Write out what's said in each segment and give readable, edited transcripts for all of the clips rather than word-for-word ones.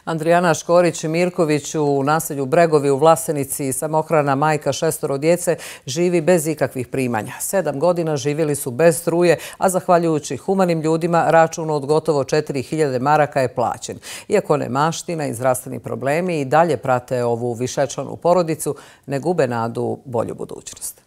Andrijana Škorić-Mirković u naselju Bregovi u Vlasenici, samohrana majka 6 djece, živi bez ikakvih primanja. 7 godina živjeli su bez struje, a zahvaljujući humanim ljudima račun od gotovo 4000 maraka je plaćen. Iako nemaština i zdravstveni problemi i dalje prate ovu višečlanu porodicu, ne gube nadu bolju budućnost.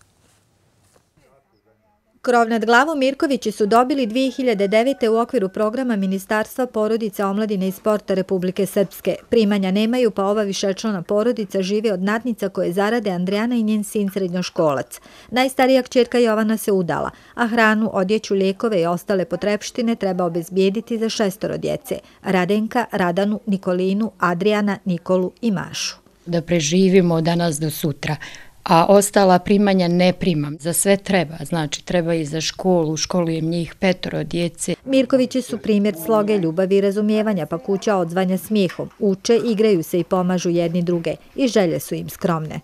Krov nad glavom Mirkovići su dobili 2009. u okviru programa Ministarstva porodice, omladine i sporta Republike Srpske. Primanja nemaju, pa ova višečlana porodica živi od nadnica koje zarade Andrijana i njen sin srednjoškolac. Najstarija kćerka Jovana se udala, a hranu, odjeću, lijekove i ostale potrepštine treba obezbijediti za 6 djece: Radenka, Radanu, Nikolinu, Adrijana, Nikolu i Mašu. Da preživimo od danas do sutra. A ostala primanja ne primam. Za sve treba, znači treba i za školu, školujem njih 5 djece. Mirkovići su primjer sloge, ljubavi i razumijevanja, pa kuća odzvanja smijehom. Uče, igraju se i pomažu jedni druge i želje su im skromne.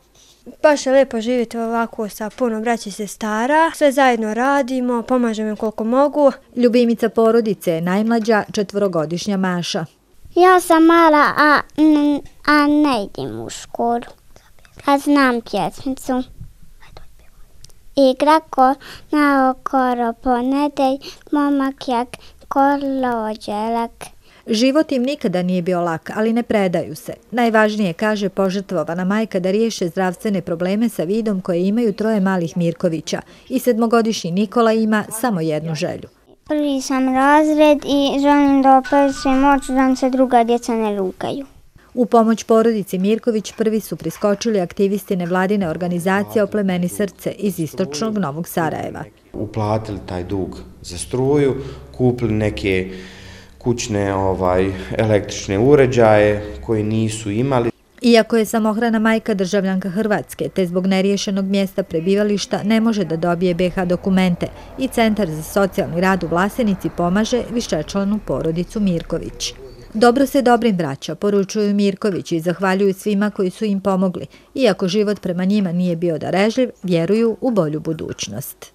Baš je lijepo živjeti ovako sa puno braće i sestara. Sve zajedno radimo, pomažemo im koliko mogu. Ljubimica porodice je najmlađa 4-godišnja Maša. Ja sam mala, a ne idem u školu. A znam pjesmicu. Igra ko na okoro ponedelj, momak jak kolođelak. Život im nikada nije bio lak, ali ne predaju se. Najvažnije, kaže požrtvovana majka, da riješe zdravstvene probleme sa vidom koje imaju 3 malih Mirkovića. I 7-godišnji Nikola ima samo jednu želju. Prvi sam razred i želim da operujem oči da nam se druga djeca ne rugaju. U pomoć porodici Mirković prvi su priskočili aktivisti nevladine organizacije Oplemeni srce iz istočnog Novog Sarajeva. Uplatili taj dug za struju, kupili neke kućne električne uređaje koji nisu imali. Iako je samohrana majka državljanka Hrvatske, te zbog neriješenog mjesta prebivališta ne može da dobije BiH dokumente i Centar za socijalni rad u Vlasenici pomaže višečlanu porodicu Mirković. Dobro se dobrim vraća, poručuju Mirkovići i zahvaljuju svima koji su im pomogli. Iako život prema njima nije bio darežljiv, vjeruju u bolju budućnost.